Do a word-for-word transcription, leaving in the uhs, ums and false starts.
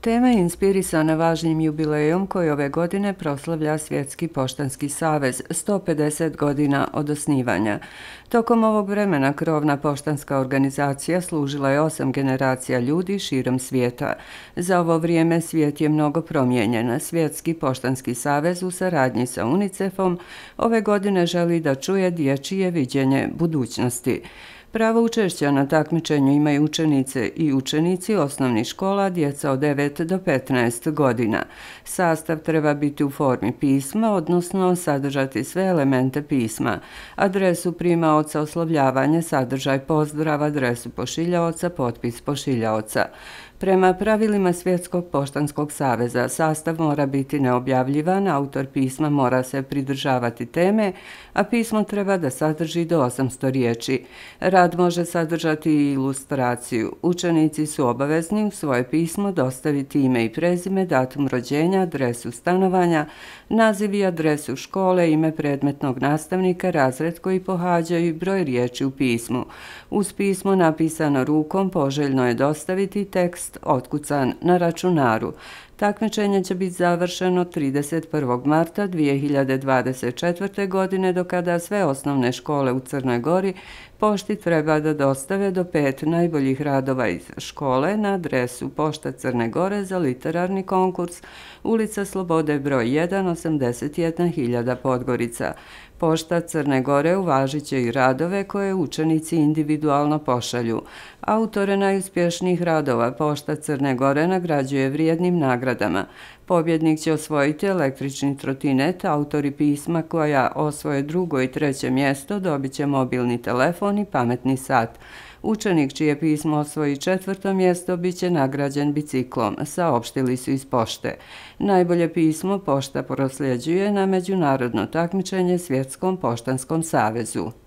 Tema je inspirisana važnim jubilejom koji ove godine proslavlja Svjetski poštanski savez, sto pedeset godina od osnivanja. Tokom ovog vremena krovna poštanska organizacija služila je osam generacija ljudi širom svijeta. Za ovo vrijeme svijet je mnogo promijenjen. Svjetski poštanski savez u saradnji sa UNICEF-om ove godine želi da čuje dječje viđenje budućnosti. Pravo učešća na takmičenju imaju učenice i učenici osnovnih škola, djeca od devet do petnaest godina. Sastav treba biti u formi pisma, odnosno sadržati sve elemente pisma: adresu primaoca, oslovljavanje, sadržaj pozdrava, adresu pošiljaoca, potpis pošiljaoca. Prema pravilima Svjetskog poštanskog saveza, sastav mora biti neobjavljivan, autor pisma mora se pridržavati teme, a pismo treba da sadrži do osamsto riječi. Rad može sadržati i ilustraciju. Učenici su obavezni u svoje pismo dostaviti ime i prezime, datum rođenja, adresu stanovanja, naziv i adresu škole, ime predmetnog nastavnika, razred koji pohađaju i broj riječi u pismu. Uz pismo napisano rukom poželjno je dostaviti tekst otkucan na računaru. Takmičenje će biti završeno trideset prvog marta dvije hiljade dvadeset četvrte. godine, do kada sve osnovne škole u Crnoj Gori pošti treba da dostave do pet najboljih radova iz škole na adresu Pošta Crne Gore za literarni konkurs, ulica Slobode broj jedan, osamdeset jedna hiljada Podgorica. Pošta Crne Gore uvažit će i radove koje učenici individualno pošalju. Autore najuspješnijih radova Pošta Crne Gore nagrađuje vrijednim nagradama. Pobjednik će osvojiti električni trotinet, autori pisma koja osvoje drugo i treće mjesto dobit će mobilni telefon i pametni sat. Učenik čije pismo osvoji četvrto mjesto bit će nagrađen biciklom, saopštili su iz pošte. Najbolje pismo pošta prosljeđuje na međunarodno takmičenje Svjetskom poštanskom savezu.